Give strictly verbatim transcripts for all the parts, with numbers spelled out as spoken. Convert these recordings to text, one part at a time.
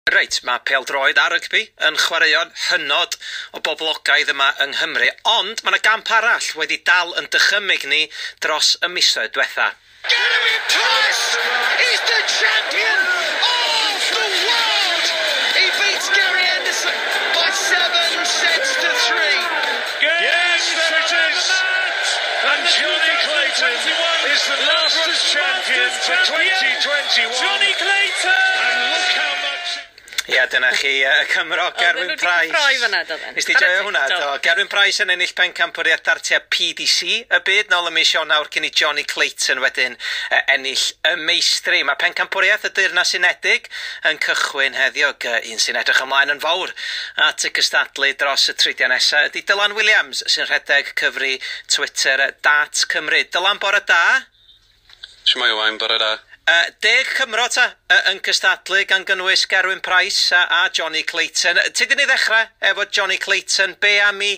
Reit, mae pêl-droed a rygbi yn chwaraeon hynod o boblogaidd yma yng Nghymru, ond mae yna gamp arall wedi dal yn dychymyg ni dros y misoedd diwetha. Gerwyn Price is the champion of the world. He beats Gary Anderson by seven sets to three. Yes, there it is. And Johnny Clayton is the Masters champion for twenty twenty-one. Johnny Clayton! And look how much... Ia, dyna chi, y Cymro, Gerwyn Price. Oedden nhw wedi cyffroi fan'na, doedden? Nes di joio hwnna, do. Gerwyn Price yn ennill pencampwriaeth dartiau P D C y byd nôl ym mis Ionawr cyn i Johnny Clayton wedyn ennill y meistri. Mae pencampwriaeth y Deyrnas Unedig yn cychwyn heddiw, un sy'n edrych ymlaen yn fawr at y cystadlu dros y tridiau nesaf ydy Dylan Williams sy'n rhedeg cyfri Twitter Dart Cymru. Dylan, bore da. Shwmae Owain, bore da. Uh, deg Cymro ta uh, yn cystadlu gan gynnwys Gerwyn Price a, a Johnny Clayton. Ti di ni ddechrau efo Johnny Clayton, be am i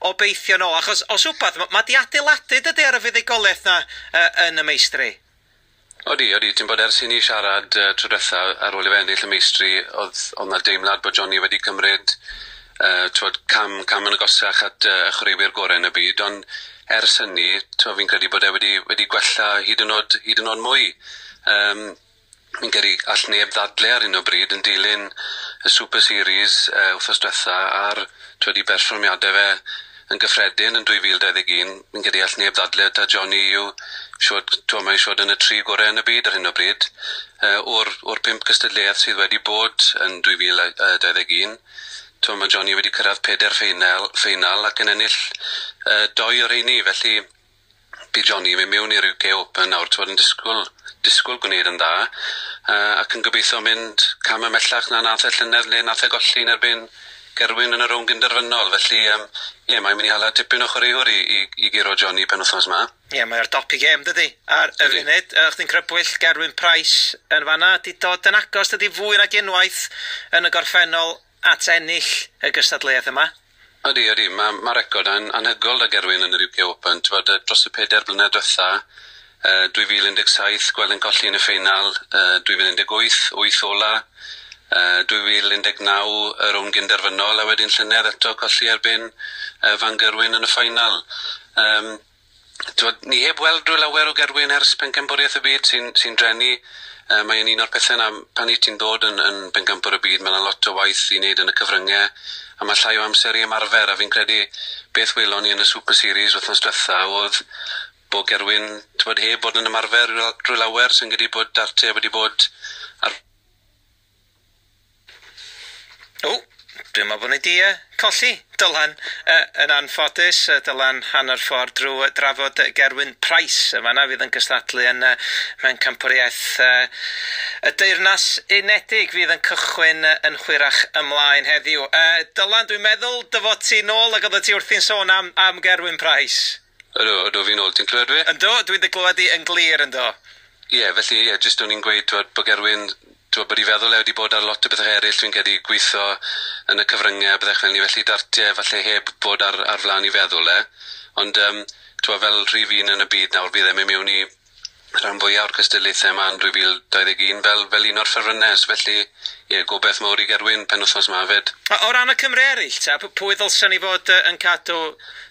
obeithio nôl? Achos os wbath, ma, ma di adeiladu dydy ar y fuddugoliaeth na uh, yn y meistri. Odi, odi, ti'n bod ers i ni siarad uh, tro diwetha ar ôl i fe ennill y meistri, oedd oedd 'na deimlad bod Johnny wedi cymryd uh, t'wod, cam, cam yn agosach at uh, y chwaraewyr gorau yn y byd, ond ers hynny, t'wod, fi'n credu bod e wedi, wedi gwella hyd yn oed, hyd yn oed mwy. Um, fi'n credu all neb ddadle ar hyn o bryd yn dilyn y Super Series uh, wythnos diwetha a'r t'wod, i berfformiadau fe yn gyffredin yn dwy fil dau ddeg un. Fi'n credu all neb ddadle ta Johnny yw siwr, t'wod, mae'n siwr yn y tri gorau yn y byd ar hyn o bryd. Uh, o'r, o'r pump cystadleuaeth sydd wedi bod yn dwy fil dau ddeg un, t'wod, mae Johnny wedi cyrraedd pedair ffeinal, ffeinal ac yn ennill uh, doi o'r rheini, felly bydd Johnny yn mynd mewn i'r U K Open nawr, t'wod, yn disgwyl, disgwyl gwneud yn dda, uh, ac yn gobeithio mynd cam ymhellach na nath e llynedd le nath e golli yn erbyn Gerwyn yn y rownd gynderfynol. Felly, um, ie, mae'n mynd i hala tipyn o chwaraewr i, i, i guro Johnny penwythnos yma. Ie, mae o'r dop i gêm, dydy, ar y Ydi. funud. Yy, chdi'n crybwyll Gerwyn Price yn fanna, di dod yn agos, dydy, fwy nag unwaith yn y gorffennol at ennill y gystadleuaeth yma. Ydy, ydy, mae ma record an, anhygoel da Gerwyn yn yr U K Open. T'wod, dros y pedair blynedd diwetha, uh, dwy fil un deg saith, gweld yn colli yn y ffeinal, uh, dwy fil un deg wyth, wyth ola, uh, dwy fil un deg naw, y rownd gynderfynol, a wedyn llynedd eto colli erbyn, uh, Van Gerwen yn y ffainal. Um, t'wod, ni heb weld rhyw lawer o Gerwyn ers pencampwriaeth y byd sy'n, sy'n drenu. Uh, mae'n un o'r pethau na pan i ti'n dod yn, yn pencampwr y byd, mae 'na lot o waith i wneud yn y cyfryngau, a mae llai o amser i ymarfer, a fi'n credu beth welon ni yn y Super Series wythnos diwetha oedd bod Gerwyn, t'wod, heb bod yn ymarfer drwy lawer, sy'n credu bod dartiau wedi bod ar... O, dwi'n meddwl bod ni di, uh, colli Dylan, uh, yn anffodus. Uh, Dylan hanner ffordd drwy drafod Gerwyn Price yn fan'na fydd yn cystadlu yn, uh, mewn campwriaeth, uh, y Deyrnas Unedig fydd yn cychwyn, uh, yn hwyrach ymlaen heddiw. Uh, Dylan, dwi'n meddwl dy fod ti nôl ac oeddet ti wrthi'n sôn am, am Gerwyn Price. Ydw, ydw, fi'n ôl. Ti'n clywed fi? Yndw, dwi'n dy glywed i yn glir, yndw. Ie, felly, ie, jyst o'n i'n gweud, t'wod, bod Gerwyn, t'wod, bod i feddwl e wedi bod ar lot o bethau eraill, dwi'n credu gweithio yn y cyfryngau, byddech fel ni, felly dartiau falle heb bod ar, ar flaen i feddwl e. Ond, um, t'wod, fel rhif un yn y byd nawr, bydd e'n mynd mewn i rhan fwyaf o'r cystadlaethau yma yn dwy fil dau ddeg un fel, fel un o'r ffefrynnau, felly ie, gobeith mawr i Gerwyn penwythnos yma hefyd. O, o ran y Cymru eraill, ta, p-, pwy ddylsen ni fod, yy, yn cadw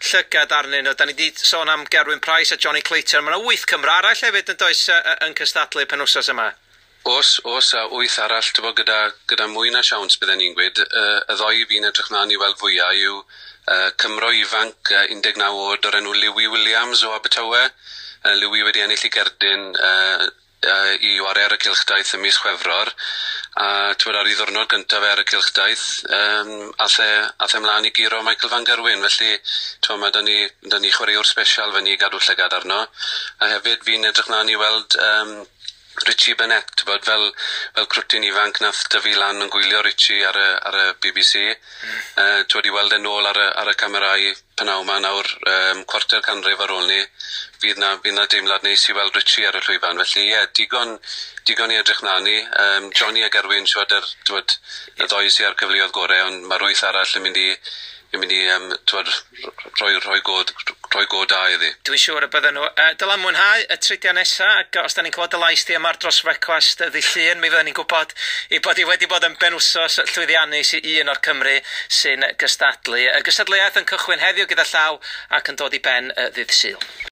llygad arnyn nhw? Da ni di sôn am Gerwyn Price a Johnny Clayton, mae yna wyth Cymro arall hefyd yn does, yy, yy, yn cystadlu penwythnos yma? Oes, oes, a wyth arall, t'bo, gyda, gyda mwy na siawns bydden ni'n gweud. Yy, y ddoi fi'n edrych mlaen i weld fwyaf yw, yy, Cymro ifanc, yy, un deg naw oed o'r enw Lewy Williams o Abertawe. Yy, Lewy wedi ennill ei gerdyn, yy, yy, i wario ar y cylchdaith ym mis Chwefror, a t'wod, ar ei ddiwrnod gyntaf ar y cylchdaith, yym, ath e, ath e mlaen i guro Michael Van Gerwen, felly t'wod, mae 'da ni, 'da ni chwaraewr special fyny i gadw llygad arno. A hefyd fi'n edrych mlaen i weld, yym, Richie Burnett, t'bod, fel, fel crwtyn ifanc nath dyfu lan yn gwylio Richie ar y, ar y B B C. Mm. Yy, t'wod, i weld e nôl ar y, ar y camerâu p'nawn 'ma nawr, yym, cwarter canrif ar ôl ni, fydd na, fydd na deimlad neis i weld Richie ar y llwyfan. Felly, ie, digon, digon i edrych mlaen i. Yym, Johnny a Gerwyn, siwr, yr, t'wod, y ddoi sy ar cyfleoedd gore, ond ma'r wyth arall yn mynd i, yn mynd i um, twod, rhoi, rhoi, go, rhoi go da iddi. Dwi'n siŵr y bydden nhw. Uh, Dylan, mwynhau y tridiau nesaf, ac os da ni'n clywed y lais di yma ar Dros Frecwast ddydd Llun, mi fydden ni'n gwybod i bod hi wedi bod yn benwsos llwyddiannus i un o'r Cymry sy'n gystadlu. Y gystadleuaeth yn cychwyn heddiw gyda llaw ac yn dod i ben ddydd Sul.